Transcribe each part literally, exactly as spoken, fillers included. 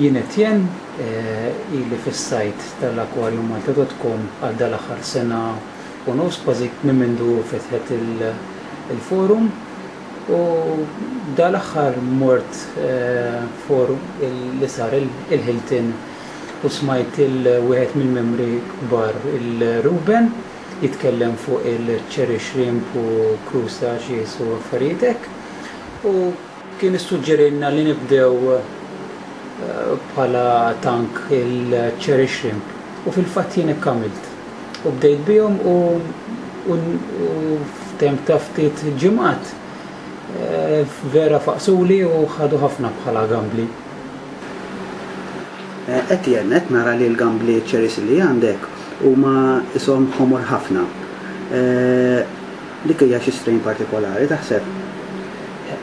Jien Etienne, ili fis-sajt tal-aquarium malta dot com għal dal-aħħar sena u nofs, kważi minn mindu fetħet il-forum. U dal-aħħar mort forum li sar il-Hilton u smajt il-wieħed mill-membri kbar, il-Ruben, jitkellem fuq il-cherry shrimp u crustacea u affarijiet hekk. U kien issuġġerilna li nibdew bħala tank il-cherry shrimp. U fil-fatt jien hekk għamilt. U bdejt bihom u, u, u f'temp ta' ftit ġimgħat vera faqsuli u ħadu ħafna bħala gambli. Etienne, qed nara li l-gambli cherries li għandek huma ishom ħomor ħafna. Dik hija xi strain partikolari taħseb?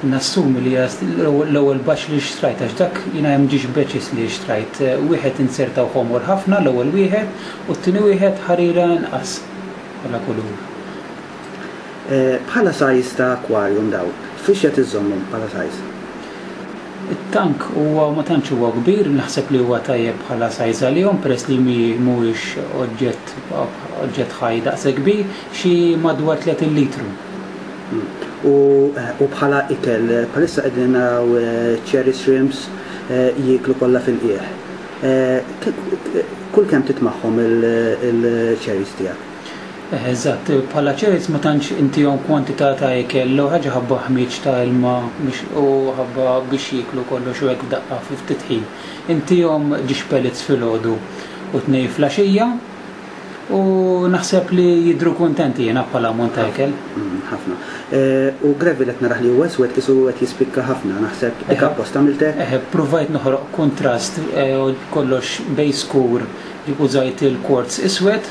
Nassumi li l-ewwel batch li xtrajt, għax dak jiena hemm ġiex batches li xtrajt. Wieħed insertaw ħomor ħafna l-ewwel wieħed u t-tieni wieħed ħarira inqas bħala kulur. Bħala size ta' aquarium daw, fiex qed iżommhom bħala size? It-tank huwa ma tantx huwa kbir, naħseb li huwa tajjeb bħala size għalihom peress li mhuwiex oġġett oġġett ħaj daqshekk kbir, xi madwar tletin litru. U, u bħala ikel, bħalissa qegħdin naraw cherry shrimps jieklu kollha fil-qiegħ. Kull kemm titmagħhom il-cherries tiegħek? Eżatt, bħala cherries ma tantx intihom kwantità ta' ikel, l ħaġa ħabba ħmieġ ta' ilma u ħabba biex jieklu kollox u hekk f'daqqa fi ftit ħin. Intihom ġiex pellets filgħodu u tnejn flaxija u naħseb li jidhru kuntenti jiena bħala ammont ta' ikel. Ħafna. U gravel qed naraħ li huwa iswed qisu qed jispikka ħafna, naħseb dik apposta għamiltek? Eħe, provajt noħroq kontrast kollox bej skur użajt il-quartz iswed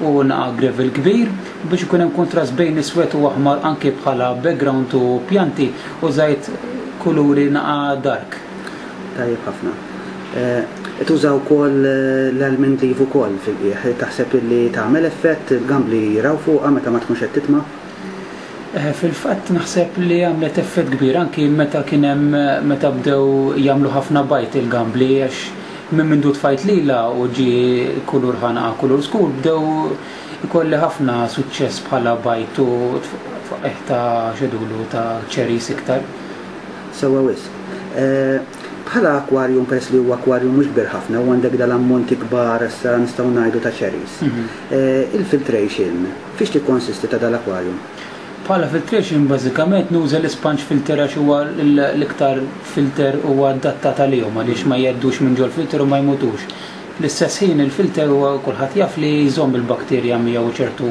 u naqa' gravel kbir biex ikun hemm kontrast bejn iswed u aħmar anke bħala background u pjanti użajt kuluri naqa' dark. Tajjeb ħafna. Tuża wkoll l-almond leaf ukoll fil-qiegħ, taħseb li tagħmel effett il-gambli jiraw fuqha meta ma tkunx qed titma'? Fil-fatt naħseb li għamlet effett kbir anki meta kien hemm meta bdew jagħmlu ħafna bajt il-gambli għax minn mindu tfajt lila u ġie kulur ħanaqa kulur skur bdew ikolli ħafna suċċess bħala bajt u tfaqih ta' xedulu ta' cherries iktar. Sewwa wisq. Bħala aquarium, peress li huwa aquarium mhux kbir ħafna u għandek dal-ammonti kbar issa nistgħu ngħidu ta' cherries. Il-filtration, fiex tikkonsisti ta' dal-aquarium? Bħala filtration bażikament nuża l-sponge filter għax huwa l-iktar filter huwa adattat għalihom għaliex ma jgħaddux minn ġol filter u ma jmutux. Fl-istess ħin il-filter huwa kulħadd jaf li jżomm il-bakterja miegħu ċertu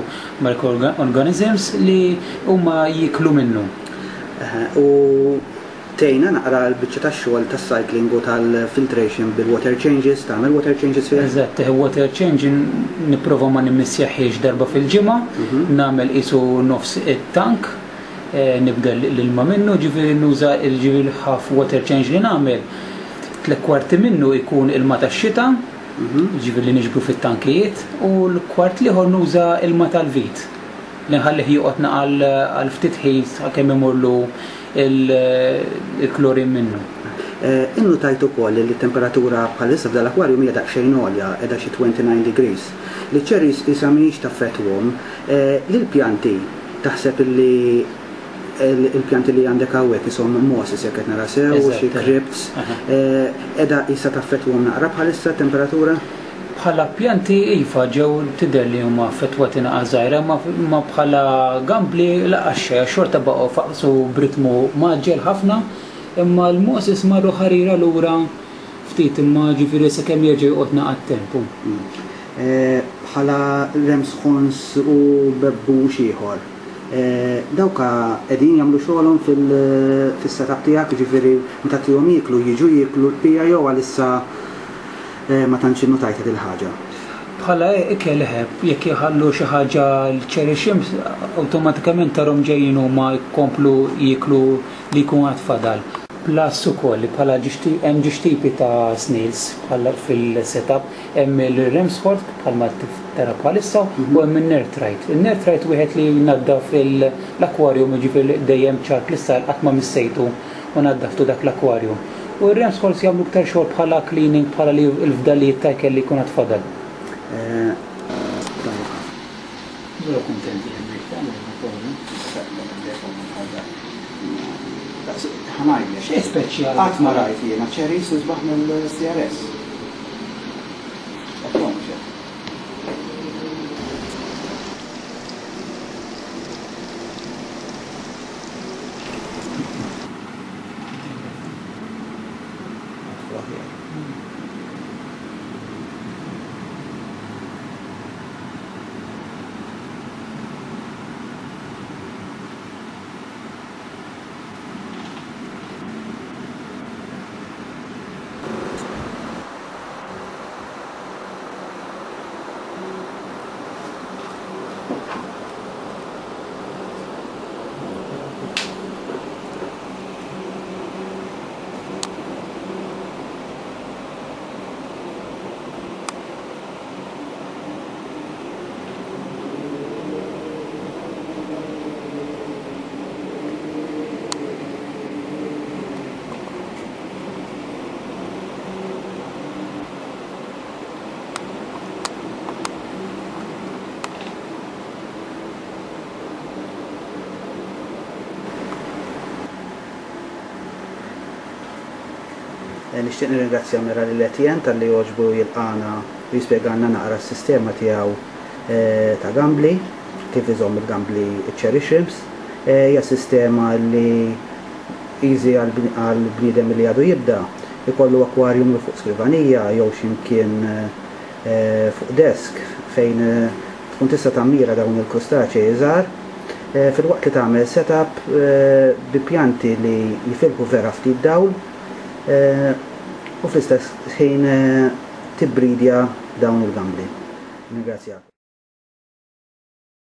microorganisms li huma jieklu minnu. U tejna naqra l-biċċa tax-xogħol tas-cycling u tal-filtration bil-water changes, tagħmel water changes fih? Eżatt, water change nipprova ma nimmissjaħiex darba fil-ġimgħa, nagħmel qisu nofs it-tank, nibdel l-ilma minnu, ġifieri nuża ġifieri half water change li nagħmel. Tliet kwarti minnu jkun ilma tax-xita, ġifieri li niġbru fit-tankijiet, u l-kwart l-ieħor nuża ilma tal-vit. Li nħallih joqgħod għal ftit ħin sakemm imurlu il-klorin minnu. Innutajt ukoll li t-temperatura bħalissa f'dal-aquarium hija daqsxejn għolja, qiegħda xi twenty-nine degrees. Li cherries qisha mhijiex taffettwhom. Lill-pjanti taħseb li il-pjanti li għandek hawnhekk ishom mosses jekk qed nara sew, xi crypts, qiegħda qisha taffettwhom naqra bħalissa t-temperatura? Bħala pjanti iva ġew tidher li huma affettwati naqa' żgħira, ma bħala gambli laqas xejn, xorta baqgħu faqsu b'ritmu maġġel ħafna, imma l-mosses marru ħarira lura ftit imma ġifieri sakemm jerġa' joqgħod naqa' t-tempu. Bħala ramshorns u bebbux ieħor, dawka qegħdin jagħmlu xogħolhom fis-setup tiegħek, ġifieri meta tihom jieklu jiġu jieklu l-pija jew għalissa ma tantx innutajt din il-ħaġa? Bħala ikel eħeb, jekk jħallu xi ħaġa l-cherry shrimps, awtomatikament tarhom ġejjin huma jkomplu jieklu li jkun għad fadal. Plus ukoll li bħala hemm żewġ tipi ta' snails bħala fil-setup, hemm il-Ramshorn bħalma tara bħalissa u hemm il-Nerthrite. Il-Nerthrite wieħed li jnaddaf l-aquarium, jiġifieri dejjem ċar kristall, qatt ma missejtu u naddaftu dak l-aquarium. U r-Ramshorns jagħmlu iktar xogħol bħala cleaning, bħala li l-fdalijiet ta' ikel li jkun għad fadal. Eh, tajjeb. Vera kuntenti hemmhekk tagħmel. Ħa ngħidlek. Xejn speċjali. Qatt ma rajt jiena cherries isbaħ mill-C R S. Ekku mhux hekk. Nixtieq nirringrazzja mela lil Etienne talli għoġbu jilqana u jispjegalna naqra s-sistema tiegħu eh, ta' gambli, kif iżomm il-gambli cherry shrimps. Eh, hija sistema li easy għal bniedem li għadu jibda, ikollu aquarium fuq skrivanija jew x'imkien eh, fuq desk fejn tkun tista' tammira dawn il-krustaċei żgħar, filwaqt li tagħmel setup bi pjanti li jifilħu vera ftit dawl u fl-istess ħin tibbridja dawn il-gambli. Ningrazzjak.